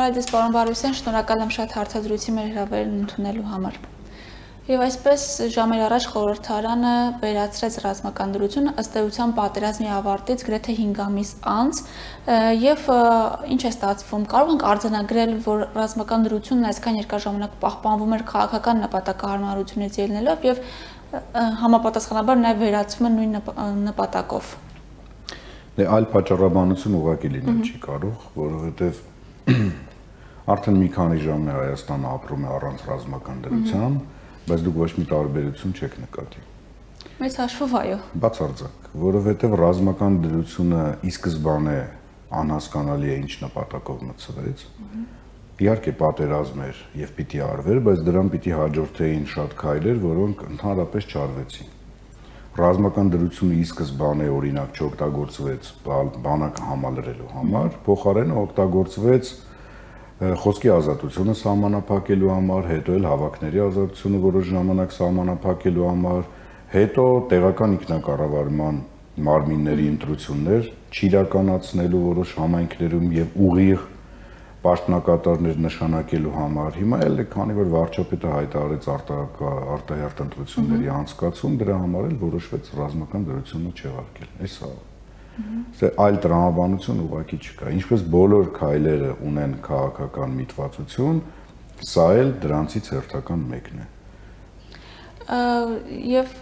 Բարև ձեզ, պարոն Բարուսյան, շնորհակալ եմ շատ հարցազրույցի մեր հրավերն ընդունելու համար։ Եվ այսպես ժամեր առաջ խորհրդարանը վերացրեց ռազմական դրությունը ըստ էության պատերազմի ավարտից գրեթե 5 ամիս անց եւ ինչ է ստացվում, կարող ենք արձանագրել, որ ռազմական դրությունն այսքան երկար ժամանակ պահպանվում էր քաղաքական նպատակահարմարությունից ելնելով եւ համապատասխանաբար նաեւ վերացվում է նույն նպատակով։ Դե այլ պատճառաբանություն ուղղակի լինել չի կարող, որովհետեւ արդեն մի քանի ժամ է Հայաստանը ապրում է առանց ռազմական դրության, բայց դուք ոչ մի տարբերություն չեք նկատի։ Մեծ հաշվով այո։ Բացարձակ, որովհետև ռազմական դրությունը ի սկզբանե անհասկանալի է ինչ նպատակով մտցվեց։ Իհարկե պատերազմ էր եւ պիտի արվեր, բայց դրան պիտի հաջորդեին շատ քայլեր, որոնք ընդհանրապես չարվեցին։ Ռազմական դրությունը ի սկզբանե օրինակ չօգտագործվեց բանակը համալրելու համար, փոխարենը օգտագործվեց խոսքի ազատությունը սահմանափակելու համար, հետո էլ հավաքների ազատությունը որոշ ժամանակ սահմանափակելու համար, հետո տեղական ինքնակառավարման մարմինների ընտրություններ չիրականացնելու որոշ համայնքներում եւ ուղիղ պաշտոնակատարներ նշանակելու համար։ Հիմա էլ քանի որ վարչապետը հայտարարեց արտահերթ ընտրությունների անցկացում, դրա համար էլ որոշվեց ռազմական դրությունը չեղարկել։ Էսա այլ տրամաբանություն ուղղակի չկա։ Ինչպես բոլոր քայլերը ունեն քաղաքական միտվածություն, սա էլ դրանցից հերթական մեկն է։ Եվ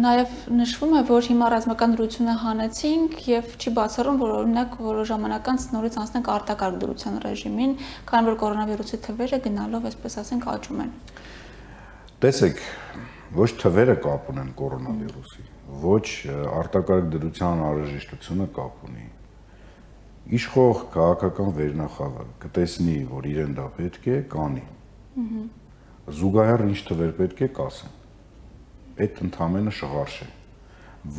նաև նշվում է, որ հիմա ռազմական դրությունը հանեցինք եւ չի բացառում, որ օրինակ որոշ ժամանակ անց նորից անցնենք արտակարգ դրության ռեժիմին, քանի որ կորոնավիրուսի թվերը գնալով, այսպես ասենք, աճում են։ Տեսեք, ոչ թվերը կապ ունեն կորոնավիրուսի, ոչ արտակարգ դրության անհրաժեշտությունը կապ ունի։ Իշխող քաղաքական վերնախավը կտեսնի, որ իրեն դա պետք է, կանի։ Զուգահեռ ինչ թվեր պետք է կասեն։ Այդ ընդհանրապես շղարշ է։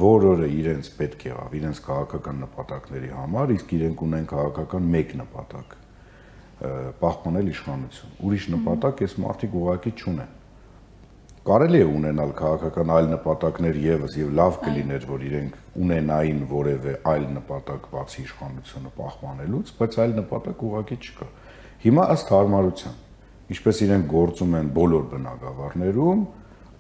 Որ օրը իրենց պետք եղավ, իրենց քաղաքական նպատակների համար, իսկ իրենք ունեն քաղաքական մեկ նպատակ՝ պահպանել իշխանություն։ Ուրիշ նպատակ այս մարդիկ ուղղակի չունեն։ Կարելի է ունենալ քաղաքական այլ նպատակներ եւս եւ լավ կլիներ, որ իրենք ունենային որևէ այլ նպատակ բացի իշխանությունը պահպանելուց, բայց այլ նպատակ ուղղակի չկա։ Հիմա ըստ հարմարության, ինչպես իրենք գործում են բոլոր բնակավարներում,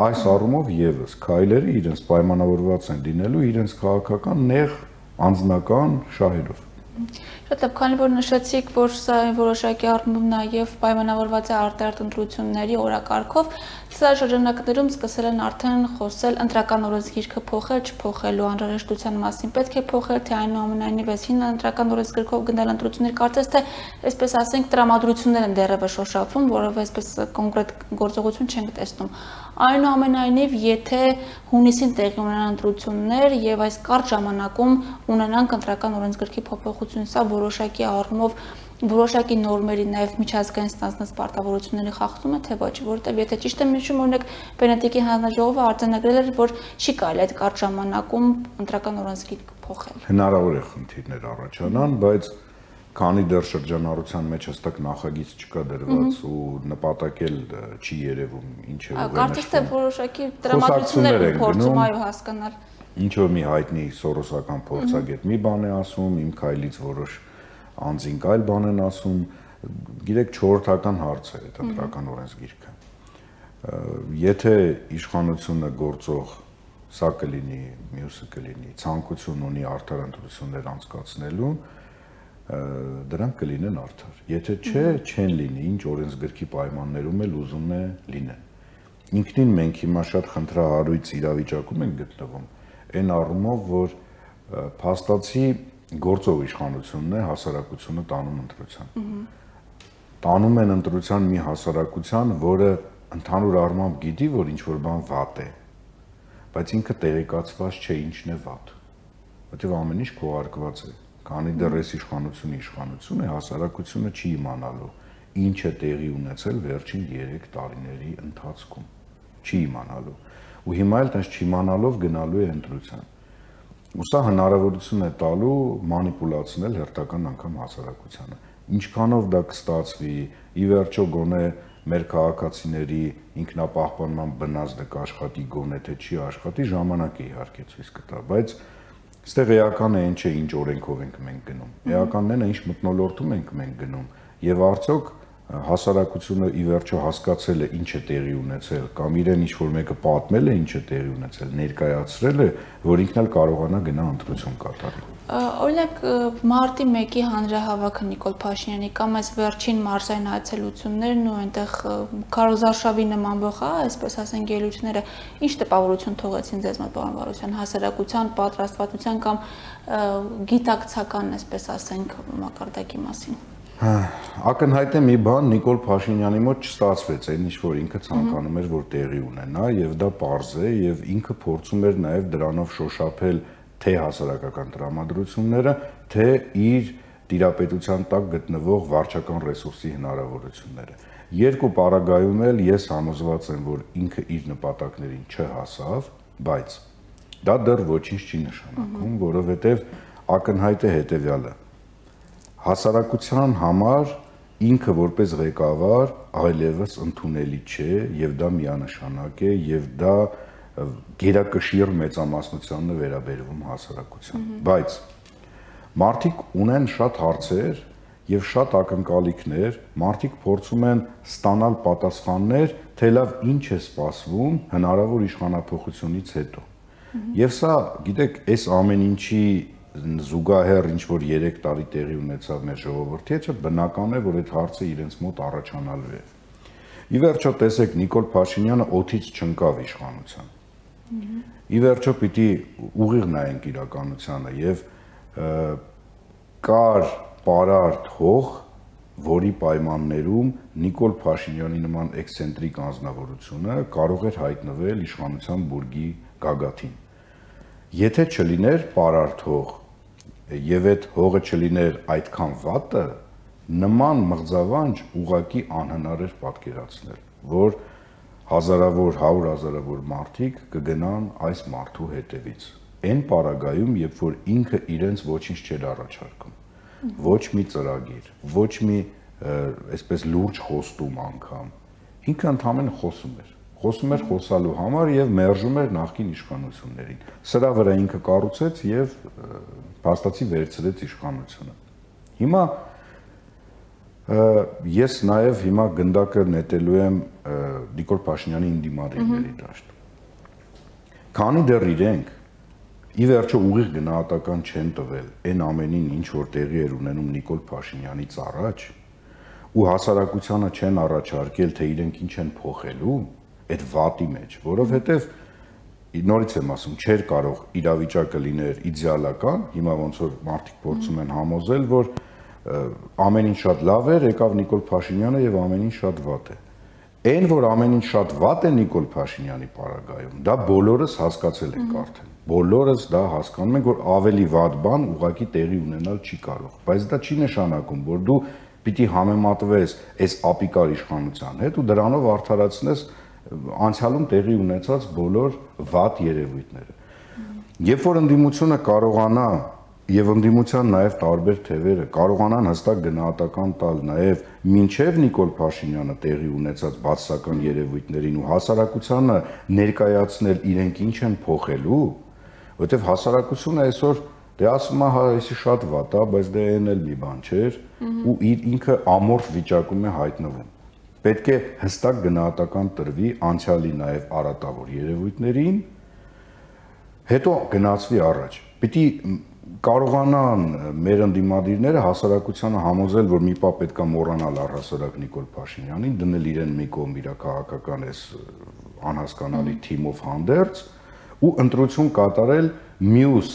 այս առումով եւս քայլերը իրենց պայմանավորված են լինելու իրենց քաղաքական նեղ անձնական շահերով։ Շատ լավ, քանի որ նշեցիք, որ սա որոշակի առումով նաև պայմանավորված է արտահերթ ընտրությունների օրակարգով, սա շրջանակներում սկսել են արդեն խոսել ընտրական օրենսգիրքը փոխել, չփոխելու անհրաժեշտության մասին, պետք է փոխել, թե այնուամենայնիվ այսին ընտրական օրենսգրքով գնել ընտրություններ, կարծես թե այսպես ասենք տրամադրություններ են դեռևս շոշափվում, որովհետև այսպես կոնկրետ գործողություն չենք տեսնում։ Այնուամենայնիվ, եթե հունիսին տեղի ունենան ընտրություններ եւ այս կարճ ժամանակում ունենանք ընտրական օրենսգրքի փոփոխություն, սա որոշակի առումով որոշակի նորմերի նաեւ միջազգային ստանձնած պարտավորությունների խախտում է, թե ոչ, որովհետեւ եթե ճիշտ եմ հիշում, օրինակ Վենետիկի հանձնաժողովը արձանագրել էր, որ չի կարելի այդ կարճ ժամանակում ընտրական օրենսգիրք փոխել։ Հնարավոր է խնդիրներ առաջանան, բայց քանի դեռ շրջանառության մեջ հստակ նախագիծ չկա դրված ու նպատակել չի երևում ինչ է ուղղել։ Կարծես թե որոշակի տրամադրություններ են փորձում այո հասկանալ։ Ինչ որ մի հայտնի սորոսական փորձագետ մի բան է ասում, իմ քայլից որոշ անձինք այլ բան են ասում, գիտեք չորրորդական հարց է այդ ընտրական օրենսգիրքը։ Եթե իշխանությունը գործող սա կլինի, մյուսը կլինի, ցանկություն ունի արդար ընտրություններ անցկացնելու, դրանք կլինեն արդար։ Եթե չէ, չեն լինի, ինչ օրենսգրքի պայմաններում էլ ուզում է լինեն։ Ինքնին մենք հիմա շատ խնդրահարույց իրավիճակում ենք գտնվում, այն առումով, որ փաստացի գործող իշխանությունն է հասարակությունը տանում ընտրության։ Տանում են ընտրության մի հասարակության, որը ընդհանուր առմամբ գիտի, որ ինչ-որ բան վատ է, բայց ինքը տեղեկացված չէ ինչն է վատ, որտեղ ամեն ինչ քողարկված է։ Քանի դեռ այս իշխանություն է, հասարակությունը չի իմանալու ինչ է տեղի ունեցել վերջին 3 տարիների ընթացքում, չի իմանալու։ Ու հիմա էլ տես չիմանալով գնալու է ընտրության։ Ու սա հնարավորություն է տալու մանիպուլացնել հերթական անգամ հասարակությանը։ Ինչքանով դա կստացվի, ի վերջո գոնե մեր քաղաքացիների ինքնապահպանման բնազդը կաշխատի, գոնե թե չի աշխատի, ժամանակը իհարկե ցույց կտա, բայց այստեղ էական է ինչ է ինչ օրենքով ենք մենք գնում։ Էականն է ինչ մթնոլորտում ենք մենք գնում եւ արդյոք հասարակությունը ի վերջո հասկացել է ինչ է տեղի ունեցել կամ իրեն ինչ որ մեկը պատմել է ինչ է տեղի ունեցել, ներկայացրել է, որ ինքն էլ կարողանա գնա ընտրություն կատարի։ Օրինակ մարտի 1-ի հանրահավաքը Նիկոլ Փաշինյանի կամ այս վերջին մարզային այցելություններն ու այնտեղ քարոզարշավի նման բխա, այսպես ասենք ելույթները, ինչ տպավորություն թողեցին ձեզ մոտ պարոն Վարուզյան, հասարակության պատրաստվածության կամ գիտակցական, այսպես ասենք, մակարդակի մասին։ Ակնհայտ է մի բան Նիկոլ Փաշինյանի մոտ չստացվեց, այն ինչ որ ինքը ցանկանում էր որ տեղի ունենա եւ դա պարզ է եւ ինքը փորձում էր նաեւ դրանով շոշափել թե հասարակական տրամադրությունները, թե իր տիրապետության տակ գտնվող վարչական ռեսուրսի հնարավորությունները։ Երկու պարագայում էլ ես համոզված եմ, որ ինքը իր նպատակներին չհասավ, բայց դա դեռ ոչինչ չի նշանակում, որովհետև ակնհայտ է հետևյալը. հասարակության համար ինքը որպես ղեկավար այլևս ընդունելի չէ եւ դա միանշանակ է եւ դա գերակշիռ մեծամասնությանն է վերաբերվում հասարակության, բայց մարդիկ ունեն շատ հարցեր եւ շատ ակնկալիքներ, մարդիկ փորձում են ստանալ պատասխաններ, թե լավ ինչ է սպասվում հնարավոր իշխանափոխությունից հետո։ Եվ սա, գիտեք, այս ամեն ինչի զուգահեռ ինչ որ 3 տարի տեղի ունեցավ մեր ժողովրդի հետ, բնական է, որ այդ հարցը իրենց մոտ առաջանալու է։ Ի վերջո տեսեք Նիկոլ Փաշինյանը օդից չընկավ իշխանության։ Ի վերջո պիտի ուղիղ նայենք իրականությանը եւ կար պարարտ հող, որի պայմաններում Նիկոլ Փաշինյանի նման էքսցենտրիկ անձնավորությունը կարող էր հայտնվել իշխանության բուրգի գագաթին։ Եթե չլիներ պարարտ հող եւ այդ հողը չլիներ այդքան վատը, նման մղձավանջ ուղակի անհնար էր պատկերացնել, որ հազարավոր, 100,000-ավոր մարդիկ կգնան այս մարդու հետևից։ Այն պարագայում, երբ որ ինքը իրենց ոչինչ չէր առաջարկում, ոչ մի ծրագիր, ոչ մի այսպես լուրջ խոստում անգամ, ինքը ընդհանրապես խոսում էր խոսալու համար եւ մերժում էր նախկին իշխանություններին։ Սրա վրա ինքը կառուցեց եւ փաստացի վերցրեց իշխանությունը։ Հիմա ես նաեւ հիմա գնդակը նետելու եմ Նիկոլ Փաշինյանի ինդիմադիրների դաշտ։ Քանի դեռ իրենք ի վերջո ուղիղ գնահատական չեն տվել այն ամենին, ինչ որ տեղի էր ունենում Նիկոլ Փաշինյանից առաջ, ու հասարակությանը չեն առաջարկել, թե իրենք ինչ են փոխելու այդ վատի մեջ, որովհետև նորից եմ ասում, չէր կարող իրավիճակը լիներ իդեալական, հիմա ոնց որ մարդիկ փորձում են համոզել, որ ամեն ինչ շատ լավ էր, եկավ Նիկոլ Փաշինյանը եւ ամեն ինչ շատ վատ է։ Այն, որ ամեն ինչ շատ վատ է Նիկոլ Փաշինյանի պարագայում, դա բոլորս հասկացել ենք արդեն։ Բոլորս դա հասկանում ենք, որ ավելի վատ բան ուղղակի տեղի ունենալ չի կարող, բայց դա չի նշանակում, որ դու պիտի համեմատվես այս ապիկար իշխանության հետ ու դրանով արդարացնես անցյալում տեղի ունեցած բոլոր վատ երևույթները։ Երբ որ ընդդիմությունը կարողանա եւ ընդդիմության նաեւ տարբեր թևերը կարողանան հստակ գնահատական տալ նաեւ մինչեւ Նիկոլ Փաշինյանը տեղի ունեցած բացասական երևույթներին ու հասարակությանը ներկայացնել իրենք ինչ են փոխելու, որովհետեւ հասարակությունը այսօր դե ասում է հա էսի շատ վատ է, բայց դե այն էլ մի բան չէր ու ինքը ամորֆ վիճակում է հայտնվում։ Պետք է հստակ գնահատական տրվի անցյալի նաև արատավոր երևույթներին, հետո գնացվի առաջ։ Պիտի կարողանան մեր ընդդիմադիրները հասարակությանը համոզել, որ մի պա պետք է մոռանալ առհասարակ Նիկոլ Փաշինյանին, դնել իրեն մի կողմ իր քաղաքական այս անհասկանալի թիմով հանդերձ ու ընտրություն կատարել մյուս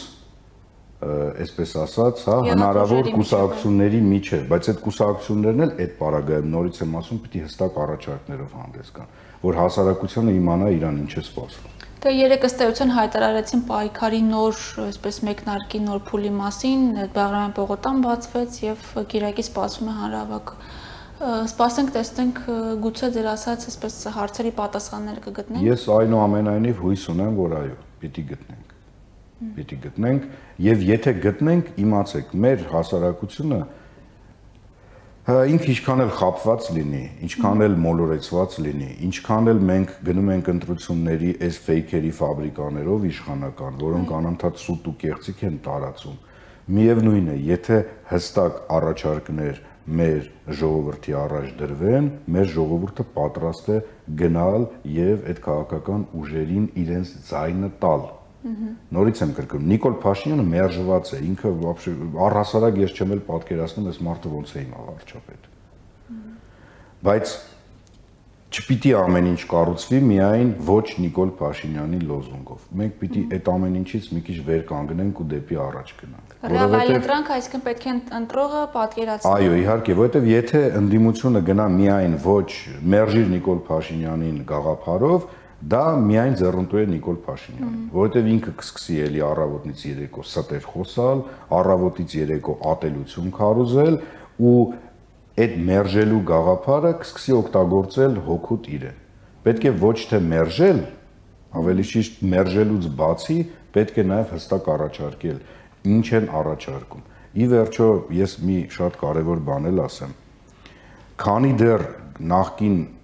այսպես ասած, հա, հնարավոր կուսակցությունների միջև, բայց այդ կուսակցություններն էլ այդ պարագայում նորից եմ ասում, պիտի հստակ առաջարկներով հանդես գան, որ հասարակությունը իմանա իրան ինչ է սպասվում։ Դե երեք ըստ էության հայտարարեցին պայքարի նոր, այսպես մեկնարկի նոր փուլի մասին, Բաղրամյան պողոտան բացվեց եւ Կիրակի սպասվում է հանրահավաք։ Սպասենք, տեսնենք, գուցե ձեր ասած, այսպես հարցերի պատասխաններ կգտնենք։ Ես այնուամենայնիվ հույս ունեմ, որ այո, պիտի գտնենք եւ եթե գտնենք, իմացեք, մեր հասարակությունը ինքը ինչքան էլ խապված լինի, ինչքան էլ մոլորեցված լինի, ինչքան էլ մենք գնում ենք ընտրությունների այս ֆեյքերի ֆաբրիկաներով իշխանական, որոնք անընդհատ սուտ ու կեղծիք են տարածում, Միևնույն է, եթե հստակ առաջարկներ մեր ժողովրդի առաջ դրվեն, մեր ժողովուրդը պատրաստ է գնալ եւ այդ քաղաքական ուժերին իրենց ձայնը տալ։ Նորից եմ կրկնում, Նիկոլ Փաշինյանը մերժված է, ինքը առհասարակ ես չեմ էլ պատկերացնում, այս մարդը ոնց է իմա վարչապետ։ Բայց չպիտի ամեն ինչ կառուցվի միայն ոչ Նիկոլ Փաշինյանի լոզունգով։ Մենք պիտի այդ ամեն ինչից մի քիչ վեր կանգնենք ու դեպի առաջ գնանք։ Ռեալիտրանք, այսինքն պետք է ընտրողը պատկերացնի։ Այո, իհարկե, որովհետև եթե ընդդիմությունը գնա միայն ոչ մերժիր Նիկոլ Փաշինյանին գաղափարով, դա միայն ձեռնտու է Նիկոլ Փաշինյանին, որովհետև ինքը կսկսի էլի առավոտից երեկո ստեր խոսալ, առավոտից երեկո ատելություն քարոզել ու այդ մերժելու գաղափարը կսկսի օգտագործել հոգուտ իրեն։ Պետք է ոչ թե մերժել, ավելի շիշտ մերժելուց բացի պետք է նաև հստակ առաջարկել, ինչ են առաջարկում։ Ի վերջո ես մի շատ կարևոր բան էլ ասեմ։ Քանի դեռ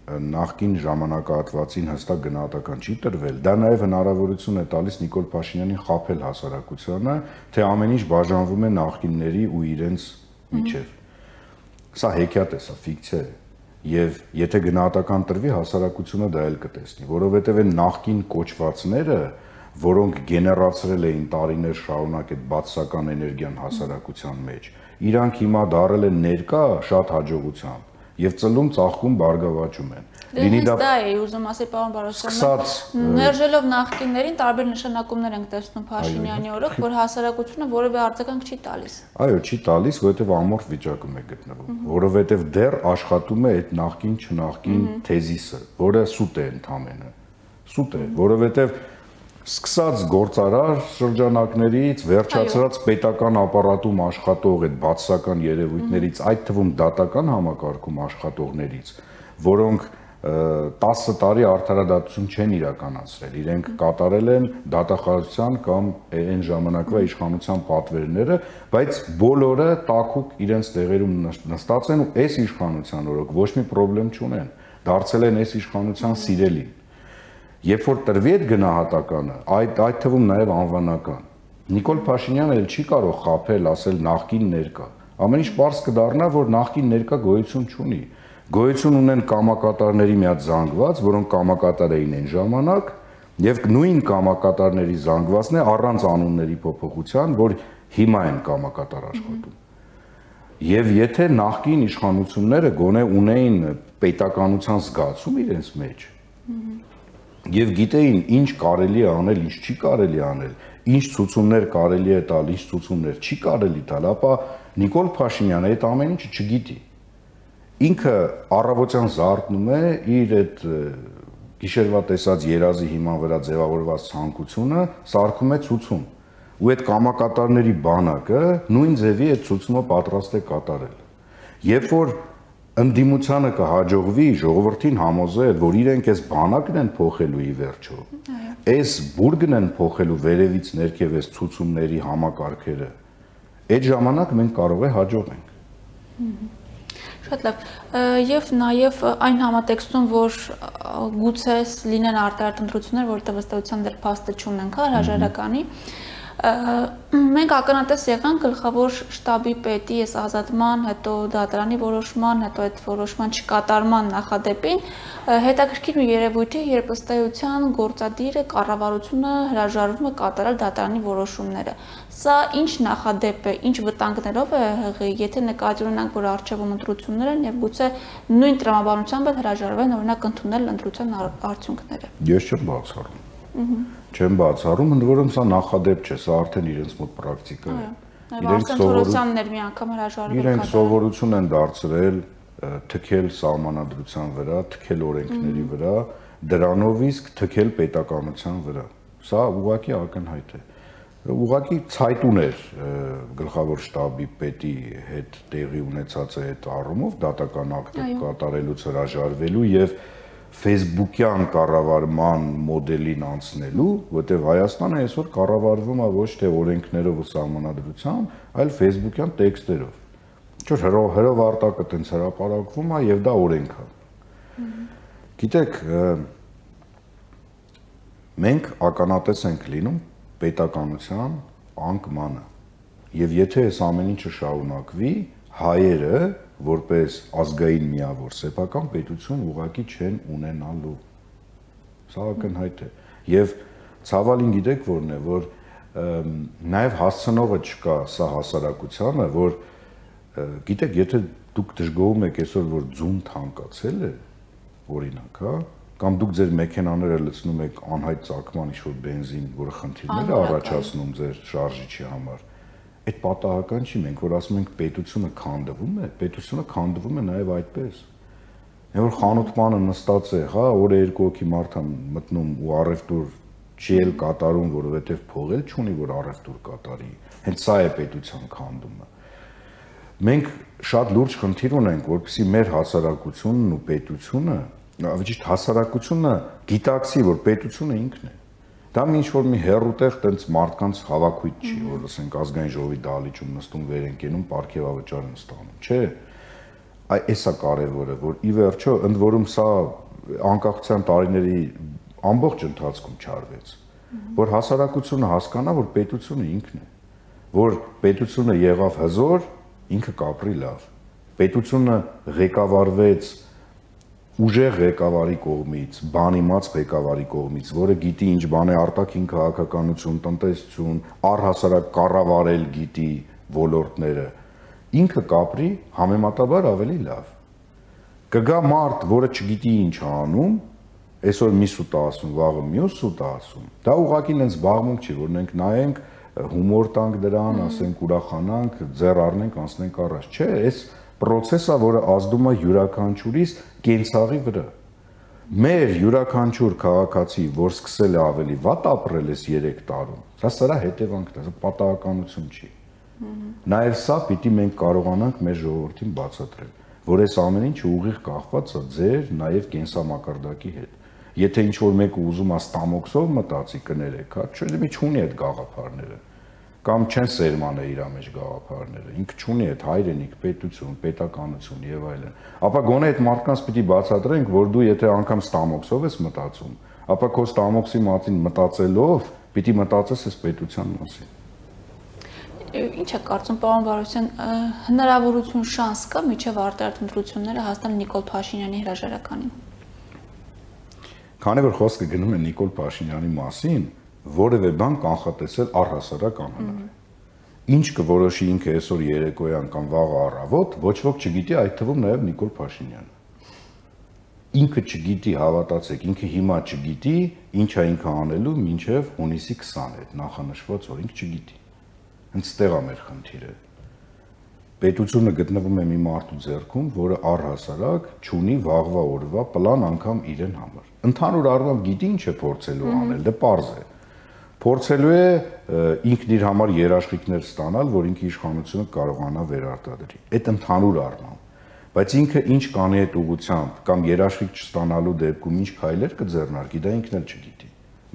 նախկին ժամանակահատվածին հստակ գնահատական չի տրվել, դա նաև հնարավորություն է տալիս Նիկոլ Փաշինյանին խաբել հասարակությանը, թե ամեն ինչ բաժանվում է նախկինների ու իրենց միջև։ Սա հեքիաթ է, սա ֆիկցիա է, եւ եթե գնահատական տրվի, հասարակությունը դա էլ կտեսնի, որովհետեւ այն նախկին կոչվածները, որոնք գեներացրել էին տարիներ շարունակ այդ բացասական էներգիան հասարակության մեջ, իրանք հիմա դարել են ներկա շատ հաջողությամբ եւ ծլում ծաղկում բարգավաճում են։ Լինի դա է ուզում ասել պարոն Բարոսյան, մերժելով նախկիններին տարբեր նշանակումներ ենք տեսնում Փաշինյանի օրոք, որ հասարակությունը որևէ արձագանք չի տալիս։ Այո, չի տալիս, որովհետեւ ամորֆ վիճակում է գտնվում, որովհետեւ դեռ աշխատում է այդ նախկին չնախկին թեզիսը, որը սուտ է ընդամենը։ Սուտ է, որովհետեւ սկսած գործարար շրջանակներից վերջացրած պետական ապարատում աշխատող այդ բացասական երևույթներից, այդ թվում դատական համակարգում աշխատողներից, որոնք 10 տարի արդարադատություն չեն իրականացրել, իրենք կատարել են դատախազության կամ այն ժամանակվա իշխանության պատվերները, բայց բոլորը տաքուկ իրենց տեղերում նստած են ու այս իշխանության օրոք ոչ մի խնդրեմ չունեն, դարձել են այս իշխանության սիրելին։ Երբ որ տրվի այդ գնահատականը, այդ թվում նաև անվանական, Նիկոլ Փաշինյանը էլ չի կարող խաբել, ասել նախկին ներկա։ Ամեն ինչ պարզ կդառնա, որ նախկին ներկա գոյություն չունի։ Գոյություն ունեն կամակատարների մի հատ զանգված, որոնք կամակատար էին այն ժամանակ, եւ նույն կամակատարների զանգվածն է առանց անունների փոփոխության, որ հիմա են կամակատար աշխատում։ Եվ եթե նախկին իշխանությունները գոնե ունեին պետականության զգացում իրենց մեջ, եւ գիտեին ինչ կարելի է անել, ինչ չի կարելի անել, ինչ ցուցումներ կարելի է տալ, ինչ ցուցումներ չի կարելի տալ, ապա Նիկոլ Փաշինյանը այդ ամեն ինչը չգիտի։ Ինքը առավոտյան զարթնում է իր այդ գիշերվա տեսած երազի հիման վրա ձևավորված ցանկությունը, սարքում է ցուցում։ Ու այդ կամակատարների բանակը նույն ձևի այդ ցուցումը պատրաստ է կատարել։ Երբ որ ընդդիմությանը կհաջողվի ժողովրդին համոզել, որ իրենք այս բանակն են փոխելու ի վերջո, այս բուրգն են փոխելու վերևից ներքև այս ցուցումների համակարգերը, այդ ժամանակ մենք կարող է հաջողենք։ Շատ լավ, եւ նաեւ այն համատեքստում, որ գուցե լինեն արտահայտ ընտրություններ, որտեղ ըստեյության դեռ փաստը չունենք, հրաժարականի, մենք ականատես եղանք գլխավոր շտաբի պետի այս ազատման, հետո դատարանի որոշման, հետո այդ որոշման չկատարման նախադեպին հետաքրքիր մի երևույթ է, երբ ըստեյության գործադիրը կառավարությունը հրաժարվում է կատարել դատարանի որոշումները։ Սա ինչ նախադեպ է, ինչ վտանգներով է ՀՂ-ի, եթե նկատի ունենանք, որ առջևում ընտրություններ են եւ գուցե նույն տրամաբանությամբ էլ հրաժարվեն օրինակ ընդունել ընտրության արդյունքները։ Ես չեմ բացառում։ Չեմ բացառում, ընդ որում սա նախադեպ չէ, սա արդեն իրենց մոտ պրակտիկա է։ Իրենք սովորություն են դարձրել թքել սահմանադրության վրա, թքել օրենքների վրա, դրանով իսկ թքել պետականության վրա։ Սա ուղղակի ակնհայտ է։ Ուղղակի ցայտուն էր գլխավոր շտաբի պետի հետ տեղի ունեցած այդ առումով դատական ակտը կատարելուց հրաժարվելու եւ Facebook-յան կառավարման մոդելին անցնելու, որտեղ Հայաստանը այսօր կառավարվում է ոչ թե օրենքներով ու սահմանադրությամբ, այլ Facebook-յան տեքստերով։ Չէ, հրովարտակը տենց հրապարակվում է եւ դա օրենք է։ Գիտեք, մենք ականատես ենք լինում պետականության անկմանը։ Եվ եթե այս ամեն ինչը շարունակվի, հայերը որպես ազգային միավոր սեփական պետություն ուղղակի չեն ունենալու։ Սա ակնհայտ է։ Եվ ցավալին գիտեք որն է, որ նաև հասցնողը չկա սա հասարակությանը, որ գիտեք, եթե դուք դժգոհում եք այսօր, որ ձուն թանկացել է, օրինակ, հա, կամ դուք ձեր մեքենաները լցնում եք անհայտ ծագման ինչ-որ բենզին, որը խնդիրներ է առաջացնում ձեր շարժիչի համար, այդ պատահական չի, մենք որ ասում ենք պետությունը քանդվում է, պետությունը քանդվում է նաև այդպես։ Այն որ խանութմանը նստած է, հա, օրը երկու հոգի մարդ է մտնում ու առևտուր չի էլ կատարում, որովհետև փող էլ չունի, որ առևտուր կատարի։ Հենց սա է պետության քանդումը։ Մենք շատ լուրջ խնդիր ունենք, որպեսզի մեր հասարակությունն ու պետությունը, ավելի ճիշտ հասարակությունը գիտակցի, որ պետությունը ինքն է։ Դա ինչ-որ մի հերուտեղ տենց մարդկանց հավաքույթ չի, որ ասենք ազգային ժողովի դահլիճում նստում վեր են կենում, պարգևավճար են ստանում, չէ։ Այս է կարևորը, որ ի վերջո ընդ որում սա անկախության տարիների ամբողջ ընթացքում չարվեց, որ հասարակությունը հասկանա, որ պետությունը ինքն է, որ պետությունը եղավ հզոր, ինքը կապրի լավ, պետությունը ղեկավարվեց ուժեղ ղեկավարի կողմից, բանիմաց ղեկավարի կողմից, որը գիտի ինչ բան է արտաքին քաղաքականություն, տնտեսություն, առհասարակ կառավարել գիտի ոլորտները, ինքը կապրի համեմատաբար ավելի լավ։ Կգա մարդ, որը չգիտի ինչ անում, այսօր մի սուտ ասում, վաղը մյուս սուտ ասում։ Դա ուղղակի ինձ զբաղմունք չի, որ մենք նայենք, հումոր տանք դրան, ասենք ուրախանանք, ձեռ առնենք, անցնենք առաջ։ Չէ, այս process-ը, որը ազդում է յուրաքանչյուրիս կենցաղի վրա։ Մեր յուրաքանչյուր քաղաքացի, որ սկսել է ավելի վատ ապրել այս 3 տարում, սա հետևանքն է, սա պատահականություն չի։ Նաև սա պիտի մենք կարողանանք մեր ժողովրդին բացատրել, որ այս ամեն ինչը ուղիղ կախված է ձեր նաև կենսամակարդակի հետ։ Եթե ինչ-որ մեկը ուզում է ստամոքսով մտածի կներեք, հա, չէ՞ չունի այդ գաղափարները, կամ չեն սերմանել իր մեջ գաղափարները, ինքը չունի այդ հայրենիք, պետություն, պետականություն եւ այլն։ Ապա գոնե այդ մարդկանց պիտի բացատրենք, որ դու եթե անգամ ստամոքսով ես մտածում, ապա քո ստամոքսի մասին մտածելով պիտի մտածես այս պետության մասին։ Ինչ է կարծում, պարոն Բարոսյան, հնարավորություն շանս կա միջև արտարտ ընտրությունները հասնել Նիկոլ Փաշինյանի հրաժարականին։ Քանի որ խոսքը գնում է Նիկոլ Փաշինյանի մասին, որևէ բան կանխատեսել առհասարակ անհնար է։ Ինչ կորոշի ինքը այսօր երեկոյան կամ վաղը առավոտ, ոչ ոք չգիտի, այդ թվում նաև Նիկոլ Փաշինյանը։ Ինքը չգիտի, հավատացեք, ինքը հիմա չգիտի, ինչ է ինքը անելու մինչև հունիսի 20 այդ նախանշված օր, ինքը չգիտի։ Հենց ստեղ է մեր խնդիրը։ Պետությունը գտնվում է մի մարդու ձեռքում, որը առհասարակ չունի վաղվա օրվա պլան անգամ իրեն համար։ Ընդհանուր առմամբ գիտի ինչ է փորձելու անել, դա պարզ է։ Փորձելու է ինքն իր համար երաշխիքներ ստանալ, որ ինքը իշխանությունը կարողանա վերարտադրի։ Այդ ընդհանուր առմամբ։ Բայց ինքը ինչ կանի այդ ուղղությամբ կամ երաշխիք չստանալու դեպքում ինչ քայլեր կձեռնարկի, դա ինքն էլ չգիտի։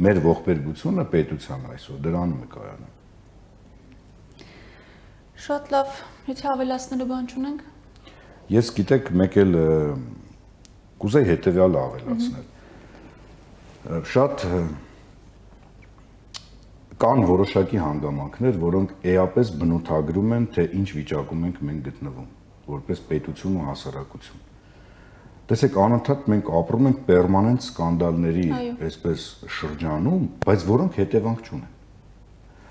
Մեր ողբերգությունը պետության այսօր դրանում է կայանում։ Շատ լավ, եթե ավելացնելու բան չունենք։ Ես գիտեք, մեկ էլ կուզեի հետևյալը ավելացնել։ Շատ կան որոշակի հանգամանքներ, որոնք էապես բնութագրում են, թե ինչ վիճակում ենք մենք գտնվում, որպես պետություն ու հասարակություն։ Տեսեք, անընդհատ մենք ապրում ենք պերմանենտ սկանդալների այսպես շրջանում, բայց որոնք հետևանք չունեն։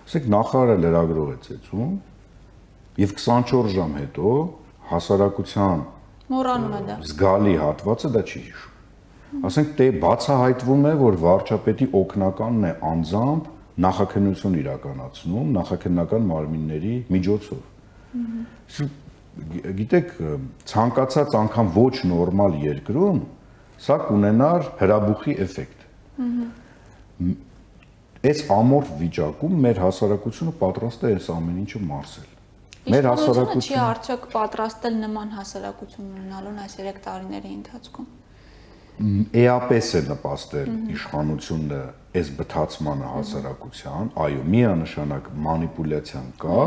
Ասեք, նախարարը լրագրող է ծեծում, եւ 24 ժամ հետո հասարակության մոռանում է դա։ Զգալի հատվածը դա չի հիշում։ Ասենք, դե բացահայտվում է, որ վարչապետի օգնականն է անձամբ նախաքննություն իրականացնում նախաքննական մարմինների միջոցով։ Գիտեք, ցանկացած անգամ ոչ նորմալ երկրում սա կունենար հրաբուխի էֆեկտ։ Այս ամորֆ վիճակում մեր հասարակությունը պատրաստ է այս ամեն ինչը մարսել։ Մեր հասարակությունը չի արդյոք պատրաստել նման հասարակություն ունենալուն այս 3 տարիների ընթացքում։ Էապես է նպաստել իշխանությունը այս բթացմանը հասարակության, այո, միանշանակ մանիպուլյացիան կա,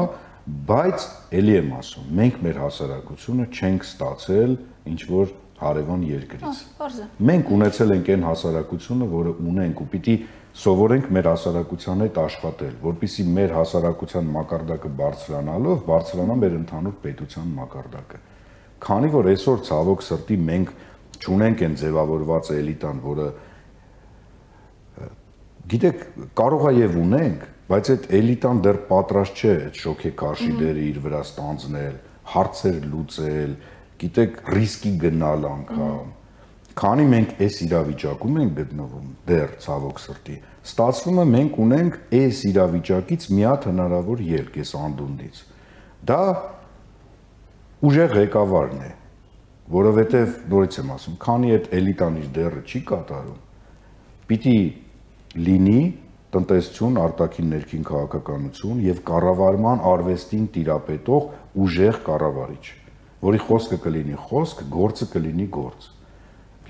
բայց ելի եմ ասում, մենք մեր հասարակությունը չենք ստացել ինչ որ հարևան երկրից։ Մենք ունեցել ենք այն հասարակությունը, որը ունենք ու պիտի սովորենք մեր հասարակության հետ աշխատել, որպեսզի մեր հասարակության մակարդակը բարձրանալով բարձրանա մեր ընդհանուր պետության մակարդակը։ Քանի որ այսօր ցավոք սրտի մենք չունենք այն ձևավորված էլիտան, որը գիտեք, կարող է եւ ունենք, բայց այդ էլիտան դեռ պատրաստ չէ այդ շոքեքարշիլերը իր վրա ստանձնել, հարցեր լուծել, գիտեք, ռիսկի գնալ անգամ։ Քանի մենք այս իրավիճակում ենք գտնվում, դեռ ցավոք սրտի, ստացվում է մենք ունենք այս իրավիճակից մի հատ հնարավոր ելք այս անդունդից։ Դա ուժեղ ղեկավարն է, որովհետև նորից եմ ասում, քանի այդ էլիտան իր դերը չի կատարում, պիտի լինի տնտեսություն, արտաքին ներքին քաղաքականություն եւ կառավարման արվեստին տիրապետող ուժեղ կառավարիչ, որի խոսքը կլինի խոսք, գործը կլինի գործ։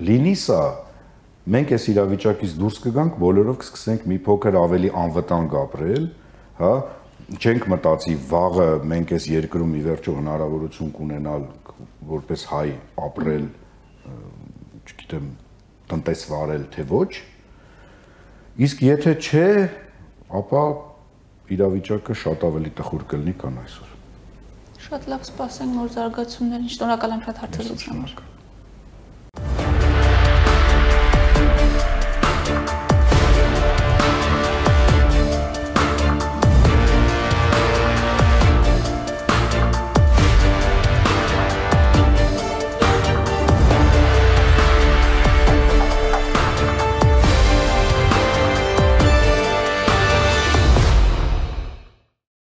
Լինի սա, մենք այս իրավիճակից դուրս կգանք, բոլորով կսկսենք մի փոքր ավելի անվտանգ ապրել, հա, չենք մտածի վաղը մենք այս երկրում ի վերջո հնարավորություն կունենալ որպես հայ ապրել, չգիտեմ, տնտեսվարել, թե ոչ։ Իսկ եթե չէ, ապա իրավիճակը շատ ավելի տխուր կլինի, քան այսօր։ Շատ լավ, սպասենք նոր զարգացումներին։ Շնորհակալ եմ շատ հարցերից համար։